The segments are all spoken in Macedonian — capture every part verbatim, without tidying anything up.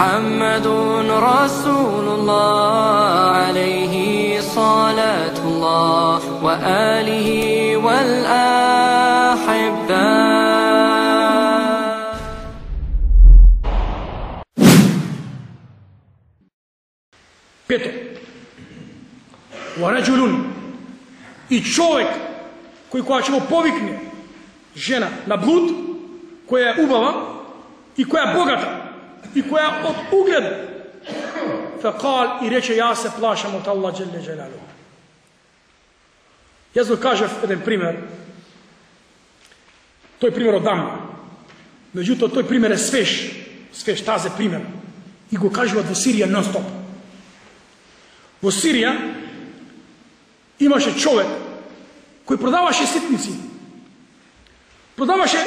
محمد رسول الله عليه صلاة الله وآله والأحبة. Пето, وَرَجُلٌ, и човек кој кога ќе го повикне жена на блуд, која е убава и која е богата и која е од углед, فَقَال, и рече, јас се плашам од Аллах джелле џелалуху. Јас го кажав еден пример, тој пример од дамна, меѓутоа тој пример е свеж, свеж тазе пример, и го кажуват во Сирија нон-стоп. Во Сирија имаше човек кој продаваше ситници. Продаваше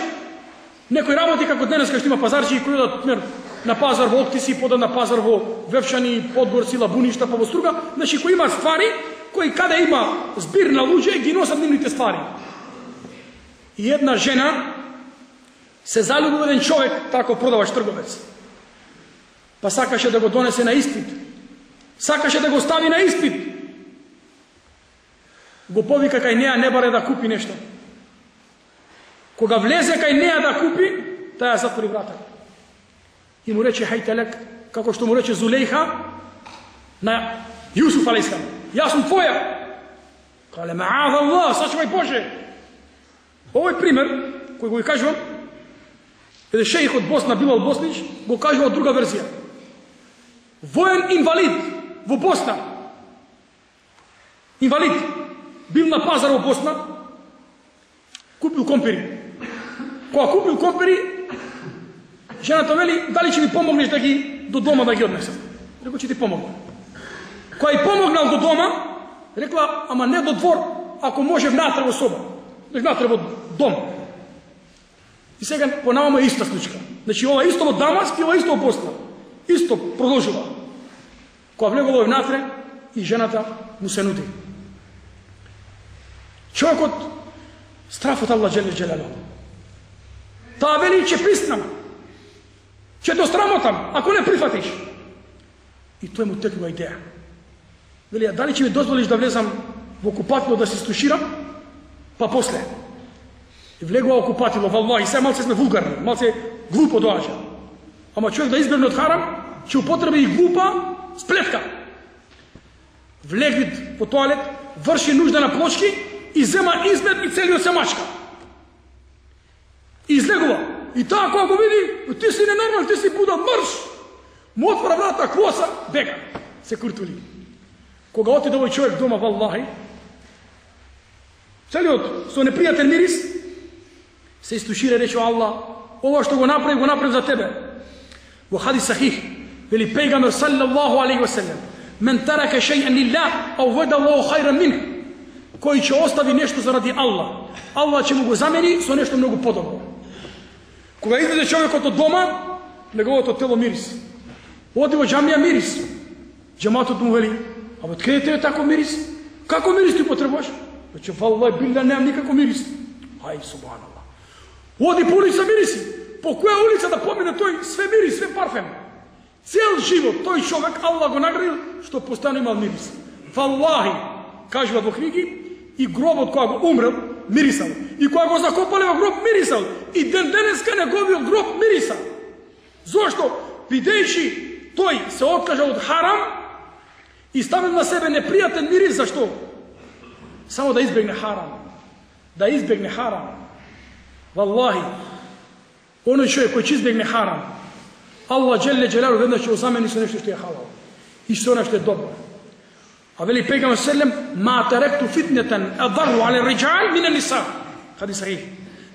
некој работи како денес кај што има пазарчи кои одат на пазар во Октиси, подат на пазар во Вевчани, Подгорци, Лабуништа, па во Струга, значи кои имаат ствари, кои каде има збир на луѓе ги носат нивните ствари. И една жена се залюби во еден човек, тако продаваш трговец. Па сакаше да го донесе на испит. Сакаше да го стави на испит. Го повика кај неа, не баре да купи нешто. Кога влезе кај неа да купи, таја затвори врата. И му рече хајтелек, како што му рече Зулейха на Јусуф алейхиссалам. Јас сум твоја. Кале ма'аҙ Аллах, сачувај Боже. Овој пример, кој го кажувам, еден шејх од Босна, Билал Боснич, го кажува од друга верзија. Воен инвалид во Босна. Инвалид. Бил на пазар во Босна, купил компири. Кога купил компири, жената вели, дали ќе ми помогнеш да ги до дома да ги однесам? Рекол, ќе ти помогна. Кога и помогнал до дома, рекла, ама не до двор, ако може внатре во соба. Внатре во дом. И сега понавамо е иста случка. Значи ова исто во Дамаск и ова исто во Босна. Исто продолжува. Кога влегува внатре и жената му се нуди. Човекот страф од Аллах джелле џелалуху. Таа вели, ќе приснам. Ќе те срамотам, ако не прифатиш. И тој му текнува идеја. Вели, дали ќе ми дозволиш да влезам во купатило да се стуширам, па после. И влегува во купатило, валлахи, сега малце сме вулгарни, малце глупо доаѓа. Ама човек да избегне од харам, ќе употреби и глупа сплетка. Влегнит во тоалет, врши нужда на плочки и зема измет и целиот се мачка. И излегува. И таа кога го види, ти си ненормал, ти си будал, мрш! Му отвора врата, квоса, бега. Се куртули. Кога отиде овој човек дома, валлахи, целиот со непријатен мирис, се истушира и рече, Аллах, ова што го направи, го направи за тебе. Во хадис сахих, вели пејгамбер саллаллаху алейхи ва селем, мен тарака шејан лилlah, аввада Аллаху хајран минх. Кој ќе остави нешто заради Аллах, Аллах ќе му го замени со нешто многу подобро. Кога излезе човекот од дома, неговото тело мирис. Оди во џамија мирис. Џематот му вели, абе откаде тебе тако мирис? Како мирис ти потребуваш? Рече, валлај билла, немам никако мирис. Ај, субханаллах. Оди по улица мириси. По која улица да помине тој, све мирис, све парфем. Цел живот тој човек Аллах го наградил што постојано имал мирис. Валлахи, кажува во книги, и гробот кога го умрел, мирисал. И кога го закопале во гроб, мирисал. И ден денеска неговиот гроб мирисал. Зошто? Бидејќи тој се откажа од харам и ставил на себе непријатен мирис, зашто? Само да избегне харам. Да избегне харам. Валлахи, оној човек кој ќе избегне харам, Аллах джелле џелалуху веднаш ќе го замени со нешто што е халал. И со нешто што е добро. А вели пејгамбер селем, ма таректу фитнетен адару але риџал мин ан-ниса. Хадис сахих.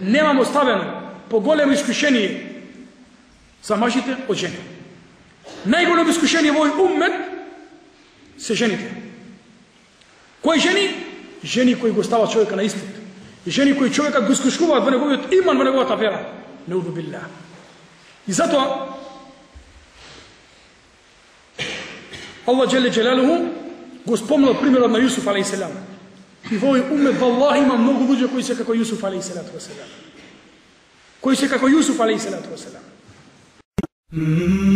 Немам оставено поголемо искушение за мажите од жени. Најголемо искушение во овој уммет се жените. Кои жени? Жени кои го стават човека на испит. И жени кои човекот го искушуваат во неговиот иман, во неговата вера. Неуду билlah. И затоа Аллах джелле џелалуху го спомнал примерот на Јусуф алейхиссалам. И во овој уммет, валлахи, има многу луѓе кои се како Јусуф алейхиссалату васелам. Кои се како Јусуф алейхиссалату васелам. Mm-hmm.